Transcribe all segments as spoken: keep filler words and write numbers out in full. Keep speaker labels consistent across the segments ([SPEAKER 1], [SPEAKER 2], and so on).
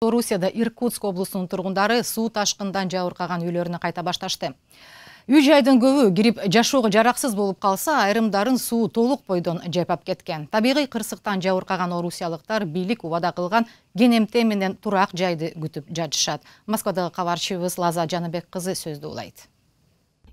[SPEAKER 1] Орусияда Иркутск облусунун тургундары суу ташкындан жабыркаган үйлөрүнө кайта башташты. Үй жайдын көбү кирип жашоого жараксыз болуп калса, айрымдарын суу толук бойдон жайпап кеткен. Табигый кырсыктан жабыркаган орусиялыктар бийлик убада кылган кенемте менен турак жайды күтүп жатышат. Москвадагы кабарчыбыз Лаза Жаныбек кызы сөздү улайт.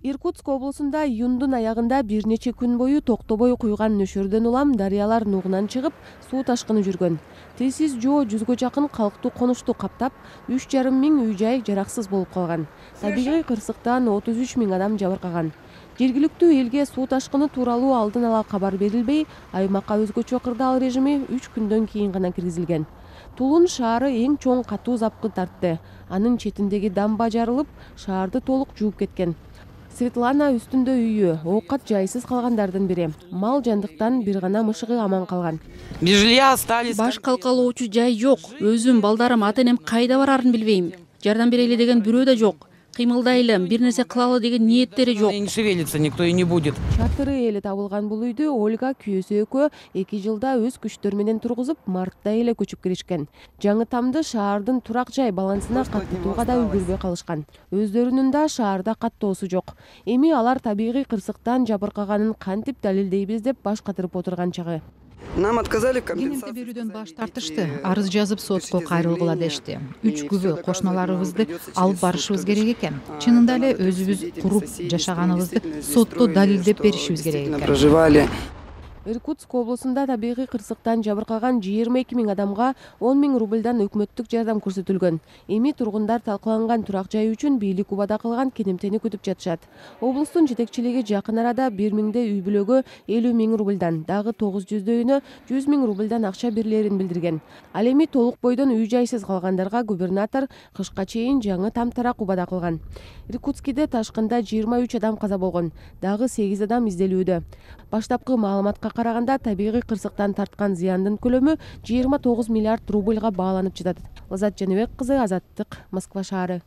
[SPEAKER 2] Иркутск облусунда июндун аягында бир нече күн бою токтобой куйган нөшөрдөн улам дарыялар нугунан чыгып, суу ташкыны жүргөн. Тесиз жөө жүзгө жакын калктуу конушту каптап, үч жарым миң үй жай жараксыз болуп калган. Табигый кырсыктан отуз үч миң адам жабыркаган. Жергиликтүү элге суу ташкыны тууралуу алдын ала кабар берилбей, аймакка өзгөчө кырдаал режими үч күндөн кийин гана киргизилген. Тулун шаары эң чоң катуу запкы тартты. Анын четиндеги дамба жарылып, шаарды толук жууп кеткен. Светлана үстүндө үйү, оокат жайсыз калгандардын бири. Мал жандыктан бир гана мышыгы аман калган.
[SPEAKER 3] Баш калкалоочу жай жок. Өзүм, балдарым, ата-энем кайда барарын билбейм. Жардам берели деген бирөө да жок. Кыймылдайлы, бир нерсе кылалы деген ниеттери жок.
[SPEAKER 4] Не шевелится, никто и не будет.
[SPEAKER 2] Чатыры эле табылган бул үйдү Ольга күйөөсү экөө эки жылда өз күчтөрү менен тургузуп, мартта эле көчүп киришкен. Жаңы тамды шаардын турак жай балансына каттатууга да үлгүрбөй калышкан. Өздөрүнүн да шаарда каттоосу жок. Эми алар табигый кырсыктан жабыркаганын кантип далилдейбиз деп баш катырып отурган чагы.
[SPEAKER 5] Нам отказали в
[SPEAKER 1] Кенемте берүүдөн баш тартышты. Арыз жазып сотко кайрылгыла дешти. Үч күбө кошуналарыбызды алып барышыбыз керек экен. Чынында эле өзүбүз куруп жашаганыбызды сотто далилдеп беришибиз керек экен.
[SPEAKER 5] проживали.
[SPEAKER 2] Иркутск облусунда табигый кырсыктан жабыркаган жыйырма эки миң адамга он миң рубльдан өкмөттүк жардам көрсөтүлгөн. Эми тургундар талкаланган турак жай үчүн бийлик убада кылган кенемтени күтүп жатышат. Облустун жетекчилиги жакын арада бир миңдей үй бүлөгө элүү миң рубльдан, дагы тогуз жүздөөүнө жүз миң рубльдан акча берилерин билдирген. Ал эми толук бойдон үй жайсыз калгандарга губернатор кышка чейин жаңы там тарак убада кылган. Иркутскиде ташкында жыйырма үч адам каза болгон, дагы сегиз адам изделүүдө. Баштапкы маалыматка караганда табигый кырсыктан тарткан зыяндын көлөмү жыйырма тогуз миллиард рубльга бааланып жатат. Лазат Жаныбек кызы, Азаттык, Москва шаары.